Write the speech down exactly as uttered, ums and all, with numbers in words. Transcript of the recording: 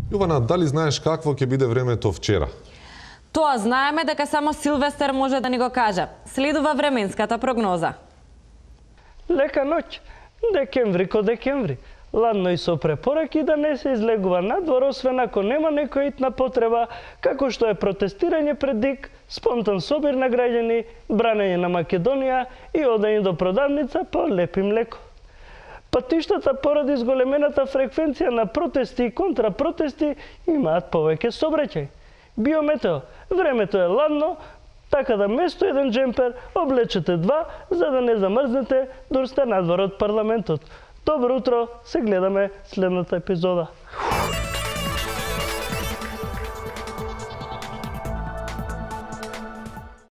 Јована, дали знаеш какво ќе биде времето вчера? Тоа знаеме дека само Силвестер може да ни го каже. Следува временската прогноза. Лека ноќ, декември ко декември. Ладно и со препораки да не се излегува надвор, освен ако нема некоја итна потреба, како што е протестирање пред ДИК, спонтан собир на граѓани, бранење на Македонија и одење до продавница по лепи млеко. Патиштата поради зголемената фреквенција на протести и контрапротести имаат повеќе сообраќај. Биометео, времето е ладно, така да место еден джемпер облечете два, за да не замрзнете дур сте надвор од парламентот. Добро утро, се гледаме следната епизода.